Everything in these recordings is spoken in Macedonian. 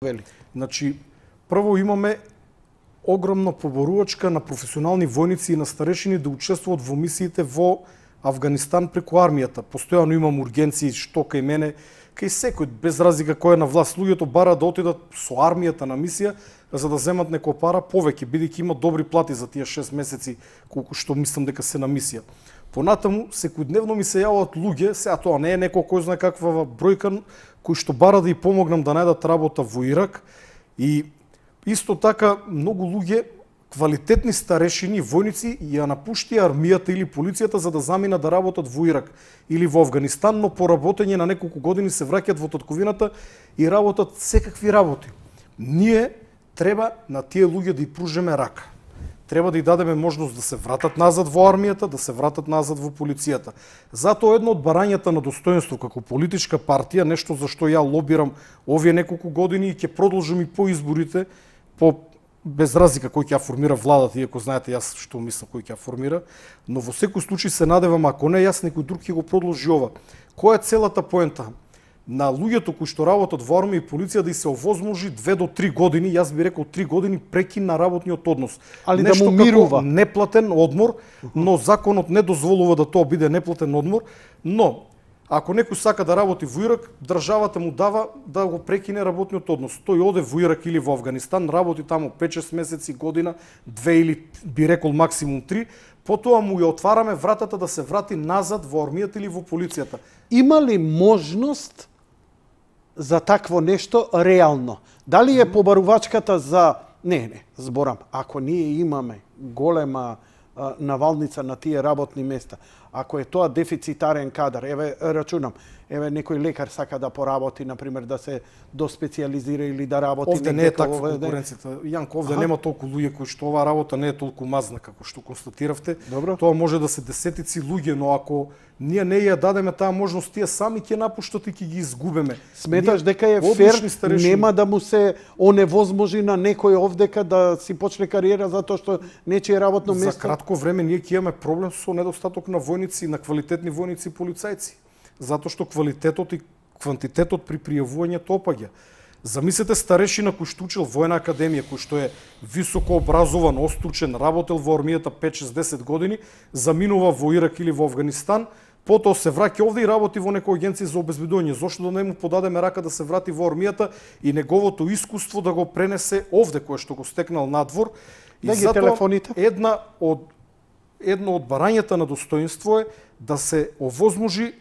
вели? Значи, прво имаме огромна поборувачка на професионални војници и на старешини да учествуваат во мисиите во Авганистан преку армијата. Постојано имам ургенции, што кај мене, кај секој, без разлика кој е на власт. Луѓето бараат да отидат со армијата на мисија, за да земат некоја пара повеќе, бидејќи имат добри плати за тие 6 месеци, колку што мислам дека се на мисија. Понатаму, секојдневно ми се јаваат луѓе, сега тоа не е некој кој знае каква бројка, кои што бара да ја помогнам да најдат работа во Ирак. И исто така, многу луѓе, квалитетни старешини, војници, ја напушти армијата или полицијата за да заминат да работат во Ирак или во Авганистан, но по работење на неколку години се враќаат во татковината и работат секакви работи. Ние треба на тие луѓе да ја пружиме рака. Треба да ја дадеме можност да се вратат назад во армијата, да се вратат назад во полицијата. Затоа едно од барањата на достоинство како политичка партија, нешто за што ја лобирам овие неколку години и ќе продолжам и по изборите, без разлика кој ќе ја формира владата, иако знаете јас што мислам кој ќе ја формира, но во секој случај се надевам, ако не јас, некој друг ќе го продолжи ова. Која е целата поента? На луѓето кои што работат во армија и полиција да и се овозможи 2 до 3 години, јас би рекол 3 години прекин на работниот однос. Али нешто да му мирува. Неплатен одмор, но законот не дозволува да тоа биде неплатен одмор, но ако некој сака да работи во Ирак, државата му дава да го прекине работниот однос. Тој оде во Ирак или во Авганистан, работи таму 5-6 месеци, година, 2 или би рекол максимум 3, потоа му ја отвараме вратата да се врати назад во армијата или во полицијата. Има ли можност за такво нешто реално? Дали е побарувачката за... Не, зборам. Ако ние имаме голема навалница на тие работни места, ако е тоа дефицитарен кадар, еве рачунам, еве некој лекар сака да поработи, например, да се доспециализира или да работи... Овде не е таква конкуренцијата. Јанко, овде нема толку луѓе кои што оваа работа не е толку мазна како што констатиравте. Добро. Тоа може да се десетици луѓе, но ако ние не ја дадеме таа можност, тие сами ќе напуштат и ќе ги изгубеме. Сметаш дека е фер, нема да му се оневозможи на некој овдека да си почне кариера затоа што нечие работно место? За кратко време ние ќе имаме проблем со недостаток на војници, на квалитетни војници и полицајци. Затоа што квалитетот и квантитетот при пријавувањето опаѓа. Замислете старешина кој што учил војна академија, кој што е високо образован, остручен, работел во армијата 5-6-10 години, заминува во Ирак или во Авганистан, потоа се враќа овде и работи во некоја агенција за обезбедување. Зошто да не му подадеме рака да се врати во армијата и неговото искуство да го пренесе овде, кое што го стекнал надвор. И затоа едно од барањата на достоинство е да се овозможи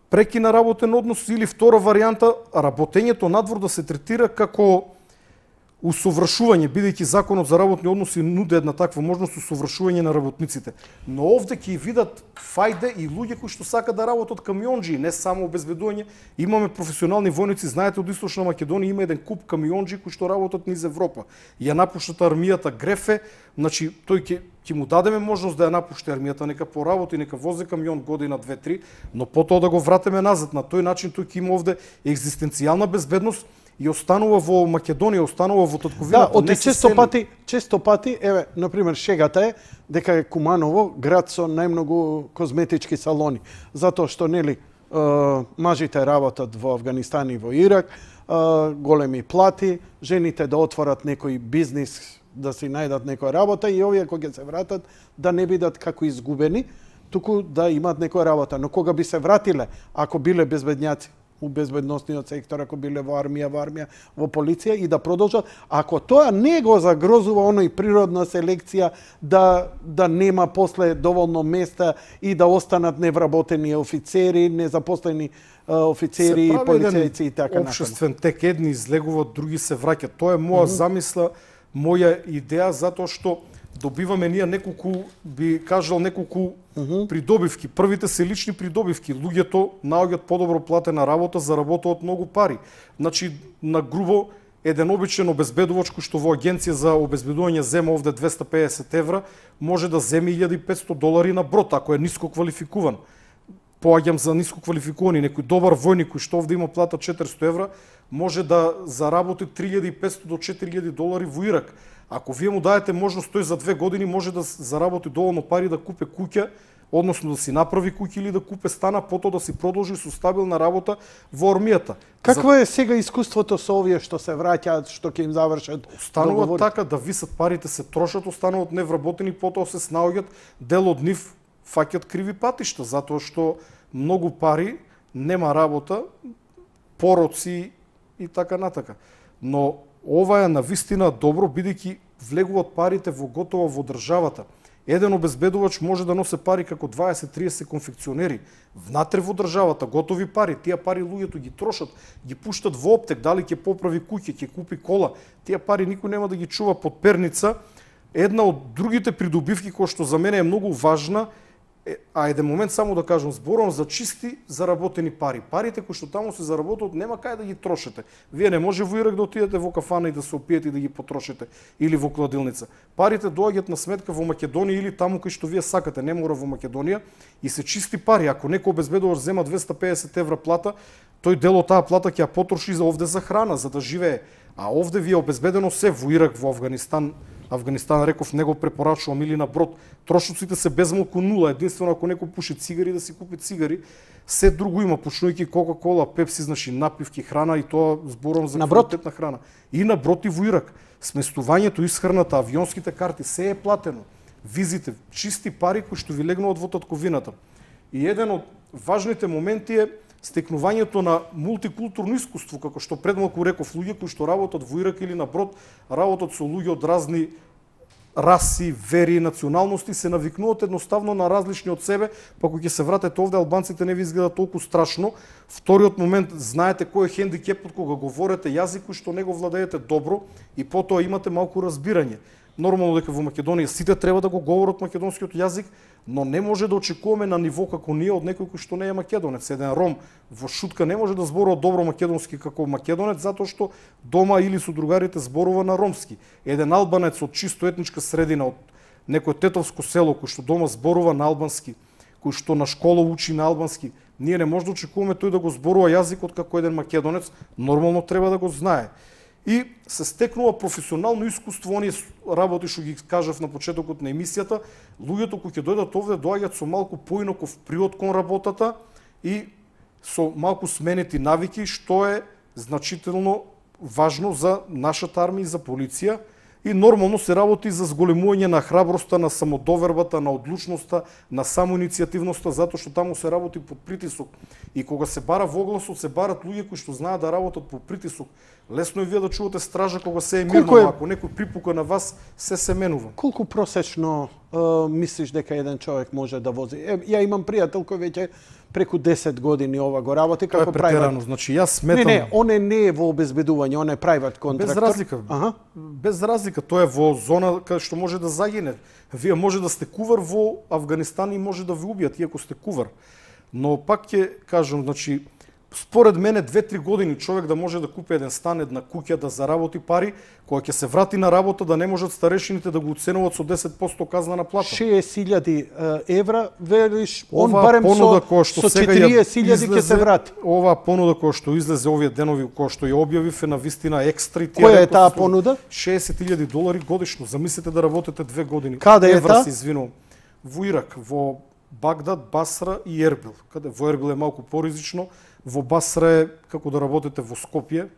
прекина работен однос или втора варијанта, работењето надвор да се третира како усовршување, бидејќи законот за работни односи нуди една таква можност усовршување на работниците. Но овде ќе видат фајде и луѓе кои што сакаат да работат камионџи, не само обезбедување. Имаме професионални војници, знаете, од Источна Македонија има еден куп камионџи кои што работат низ Европа. Ја напуштат армијата Грефе, значи тој ќе му дадеме можност да ја напушти армијата, нека поработи, нека вози камион година, 2-3, но потоа да го вратиме назад. На тој начин тој ќе има овде екзистенцијална безбедност и останува во Македонија, останува во татковината. Да, често пати, еве, например, шегата е дека е Куманово град со најмногу козметички салони, затоа што нели мажите работат во Авганистан и во Ирак, големи плати, жените да отворат некој бизнис, да си најдат некоја работа и овие кога ќе се вратат да не бидат како изгубени, туку да имаат некоја работа. Но кога би се вратиле, ако биле безбедњаци у безбедносниот сектор, ако биле во армија, во полиција и да продолжат, ако тоа не го загрозува оној природна селекција да нема после доволно места и да останат невработени офицери, незапослени офицери, полицајци и така натаму. Општествен тек, едни излегуваат, други се враќаат. Тоа е моја замисла, моја идеја, затоа што добиваме ние неколку, би кажал, неколку придобивки. Првите се лични придобивки. Луѓето наоѓаат подобро платена работа, заработуваат многу пари. Значи, на грубо, еден обичен обезбедувач кој што во агенција за обезбедување зема овде 250 евра, може да земи $1.500 на брод, ако е ниско квалификуван. Поаѓам за ниско квалификувани, некој добар војник кој што овде има плата 400 евра, може да заработи $3.500 до $4.000 во Ирак. Ако вие му даете можност, тој за 2 години може да заработи доволно пари да купи куќа односно да си направи куќа или да купе стана, потоа да си продолжи со стабилна работа во армијата. Какво е сега искуството со овие што се враќаат, што ќе им завршат Останува договори? така да висат парите, се трошат, остануваат невработени, потоа се снаоѓат, дел од нив фаќат криви патишта, затоа што многу пари, нема работа, пороци и така натака. Но ова е навистина добро, бидејќи влегуваат парите во готово во државата. Еден обезбедувач може да носи пари како 20-30 конфекционери внатре во државата, готови пари. Тие пари луѓето ги трошат, ги пуштат во оптек, дали ќе поправи куќа, ќе купи кола. Тие пари никој нема да ги чува под перница. Една од другите придобивки која што за мене е многу важна, а еден момент само да кажам, зборувам за чисти заработени пари. Парите кои што таму се заработат нема кај да ги трошите. Вие не може во Ирак да отидете во кафана и да се опиете и да ги потрошите или во кладилница. Парите доаѓаат на сметка во Македонија или таму кај што вие сакате, не мора во Македонија, и се чисти пари. Ако некој обезбедувач зема 250 евра плата, тој дел од таа плата ќе ја потроши за овде за храна, за да живее. А овде ви е обезбедено се во Ирак, во Авганистан. Авганистан, реков, не го препорачувам, или на брод. Трошоците се безмалку нула, единствено ако некој пуши цигари да си купи цигари. Се друго има, почнувајќи Кока-кола, Пепси, значи напивки, храна, и тоа зборувам за квалитетна храна. И на брод и во Ирак. Сместувањето, исхраната, авионските карти, се е платено. Визите, чисти пари кои што ви легнуваат во татковината. И еден од важните моменти е стекнувањето на мултикултурно искуство, како што предмалку реков, луѓе кои што работат во Ирак или на брод, работат со луѓе од разни раси, вери, националности, се навикнуваат едноставно на различни од себе, па кога ќе се вратите овде, албанците не ви изгледа толку страшно. Вториот момент, знаете кој е хендикепот кога говорите јазик кој што не го владеете добро и потоа имате малку разбирање. Нормално дека во Македонија сите треба да го говорат македонскиот јазик, но не може да очекуваме на ниво како ние од некој кој што не е македонец. Еден ром во Шутка не може да зборува добро македонски како македонец затоа што дома или со другарите зборува на ромски. Еден албанец од чисто етничка средина, од некој тетовско село кој што дома зборува на албански, кој што на школа учи на албански, ние не може да очекуваме тој да го зборува јазикот како еден македонец, нормално треба да го знае. И се стекнува професионално искуство, оние работи што ги кажав на почетокот на емисијата, луѓето кои ќе дојдат овде доаѓаат со малку поинаков приод кон работата и со малку сменети навики, што е значително важно за нашата армија и за полиција. И нормално се работи за зголемување на храброста, на самодовербата, на одлучноста, на самоиницијативноста, затоа што таму се работи под притисок. И кога се бара во огласот, се барат луѓе кои што знаат да работат под притисок. Лесно е вие да чувате стража кога се е мирно, ако некој припука на вас, се менува. Колку просечно мислиш дека еден човек може да вози? Ја имам пријател кој веќе преку 10 години ова го работи како прајват. Значи јас сметам. Не, он не е во обезбедување, он е прајват контрактор. Без разлика. Без разлика, тоа е во зона каде што може да загине. Вие може да сте кувар во Авганистан и може да ви убијат иако сте кувар. Но пак ќе кажам, значи според мене 2-3 години човек да може да купи еден стан, една куќа, да заработи пари, кога ќе се врати на работа да не можат старешините да го оценуваат со 10% казна на плата. 60.000 евра, велиш, он барем со 40.000 ќе се врати. Оваа понуда која што излезе овие денови, која што ја објавив е на вистина екстра. Која е таа понуда? $60.000 годишно. Замислете да работите 2 години. Каде е таа? Се извинувам. Во Ирак, во Багдад, Басра и Ербил. Каде во Ербил е малку поризично, во Басра е како да работите во Скопје,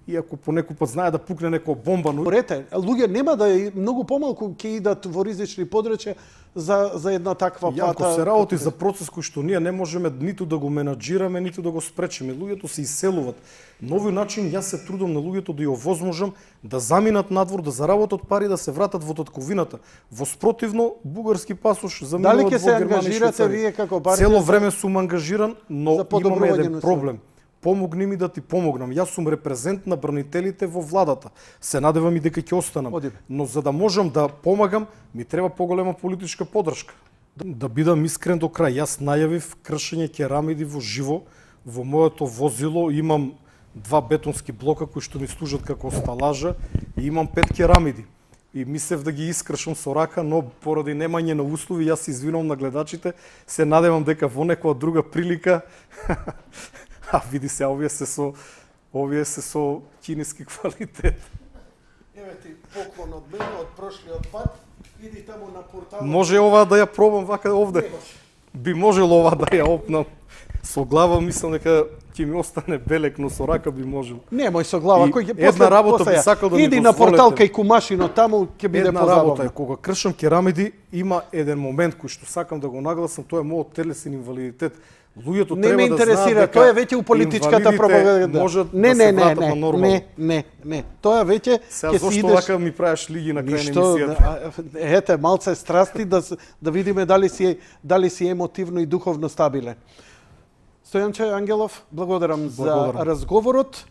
и ако по некој пат знае да пукне некоја бомба, но луѓе нема да многу помалку ќе идат во ризични подрачја за една таква плата. Ако се работи за процес кој што ние не можеме ниту да го менаџираме, ниту да го спречиме, луѓето се иселуваат. На овој начин јас се трудам на луѓето да ја овозможам да заминат надвор, да заработат пари, да се вратат во татковината. Во спротивно, бугарски пасош заминуваат во Германија. Дали ќе се ангажирате вие како партија? Цело време сум ангажиран, но имаме еден проблем. Помогни ми да ти помогнам. Јас сум репрезент на бранителите во владата. Се надевам и дека ќе останам. Но за да можам да помагам, ми треба поголема политичка поддршка. Да бидам искрен до крај, јас најавив кршење керамиди во живо. Во моето возило имам 2 бетонски блока кои што ми служат како сталажа и имам 5 керамиди. И мислев да ги искршам со рака, но поради немање на услови, јас се извинувам на гледачите, се надевам дека во некоја друга прилика а види се, овие се со кинески квалитет. Еве ти поклон од мене од прошлиот пат. Иди таму на порталот. Може ова да ја пробам вака овде. би можело ова да ја опнам со глава, мислам дека ќе ми остане белек, но со рака би можел. Немој со глава, И кој ќе една работа би сакал да ми иди на дозволите. портал кај кумашино таму ќе биде Една работа е, позабавно. кога кршам керамиди, има еден момент кој што сакам да го нагласам, тоа е мојот телесен инвалидитет. Луѓето Не треба ме да интересира, знаат дека тоа е веќе у политичката инвалидите пропаганда. можат Не, да не, се не, вратат на не, нормално. не. Тоа веќе Сега ќе си зошто идеш. вака ми правиш лиги на крај на Ништо, емисијата? ете, малце страсти да видиме дали си емотивно и духовно стабилен. Стојанче Ангелов, благодарам за Благодарам. разговорот.